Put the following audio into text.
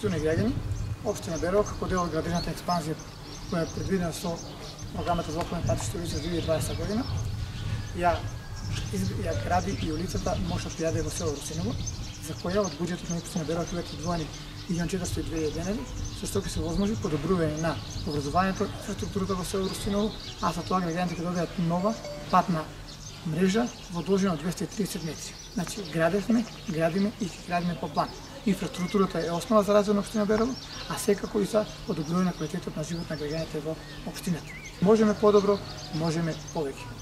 Почитувани граѓани, општина Берово како дел од градежната експанзија која е предвидена со програмата за околни патишта улица 2020 година, ја гради и улицата Моша Пијаде во село Русиново, за која од буџетот на општина Берово ќе бидат одвоени 1.402.000 денари, со што ќе се возможи подобрување на образованието, инфраструктурата во село Русиново, а со тоа граѓаните ќе добијат нова патна мрежа во должина од 230 метри. Значи, градиме и ќе градиме по план. Инфраструктурата е основа за развој на општина Берово, а секако и за подобрување на квалитетот на живот на граѓаните во општината. Можеме подобро, можеме повеќе.